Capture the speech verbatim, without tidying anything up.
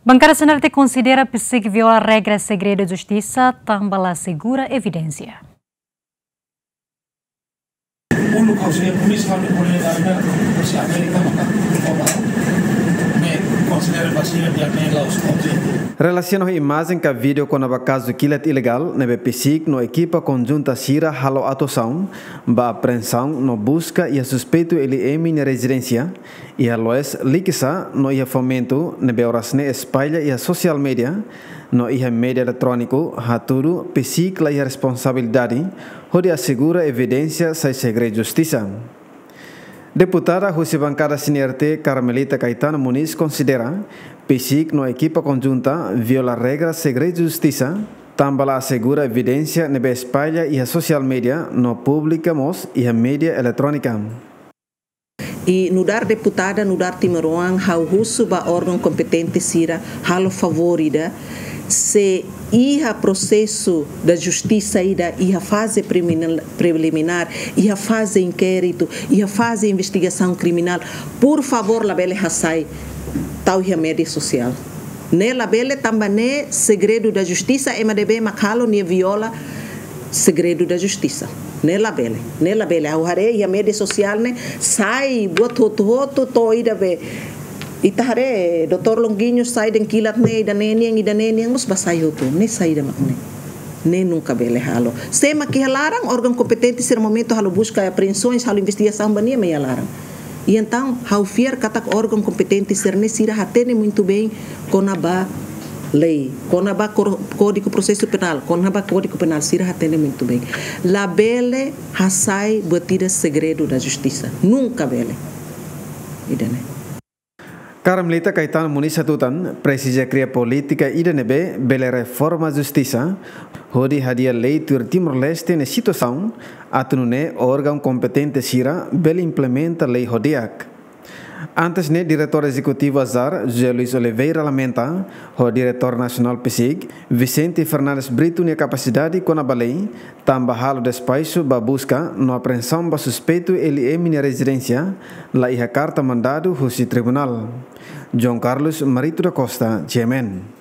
Bankada CNRT konsidera PCIC viola regra segredu justisa tanba la asegura evidénsia. Uluk ha'u sei polísia, ha'u polísia da Amérika, polísia Amérika maka, me konsidera ba sira ne'e la'ós konsidera. Relasiona ho imajen ka vídeo kona-ba kazu kilat ilegál ne'ebé PCIC no ekipa konjunta sira halo atuasaun ba apreensaun no buska iha suspeitu L M nia rezidénsia iha Loes Likisá no iha Fomento ne'ebé oras ne'e espalla iha sosiál média no iha média eletróniku, hatudu PCIC la iha responsabilidade hodi asegura evidénsia sai segredu justisa. Deputada husi bankada CNRT, Carmelita Caetano Muniz, konsidera PCIC no ekipa konjunta viola regra segredu justisa tanba la asegura evidénsia ne'ebé espalla iha sosiál média no publika mós iha média eletrónika. I nu'udar deputada, nu'udar timoroan, ha'u husu ba órgaun kompetente sira halo favór ida, se iha prosesu da justisa ida, iha faze preminal-, preliminár, iha faze inkéritu, iha faze investigasaun kriminál, por favór, labele hasai tau iha média sosiál. Ne'e labele, tanba ne'e segredu da justisa, ema ne'ebé mak halo ne'e viola segredu da justisa. Ne'e labele, ne'e labele. Ha'u haree iha média sosiál ne'e sai buat hotu-hotu, to'o ida be, ita haree doutór Longuinho sai dehan kilat ne'e ida-ne'e nian, ida-ne'e nian, mós ba sai hotu. Ne'e saida mak ne'e? Ne'e nunka bele halo. Sé mak iha laran, órgaun kompetente sira momentu halo buska, apreensoens, halo investigasaun ba nia mak iha laran. I entaun, ha'u fiar katak órgaun kompetente sira-ne'e sira hatene muitu bein kona-ba lei, kona-ba kor-, Kódigu Prosesu Penál, kona-ba Kódigu Penál sira hatene muitu bein. Labele hasai buat ida segredu da justisa. Nunka bele. Ida-ne'e. Carmelita Caetano Muniz hatutan, presiza kria polítika ida ne'ebé bele reforma justisa, hodi hadi'a lei tuir Timor-Leste nia situasaun, atu nune'e órgaun kompetente sira bele implementa lei ho di'ak. Antes ne'e, Diretór Ezekutivu ASAR, José Luís Oliveira, lamenta ho Diretór Nasionál PCIC, Vicente Fernandes Brito, nia kapasidade kona-ba lei, tanba halo despaixu ba buska no apreensaun ba suspeitu L M nia rezidénsia, la iha karta mandadu husi tribunál. João Carlos Marito da Costa, G M N.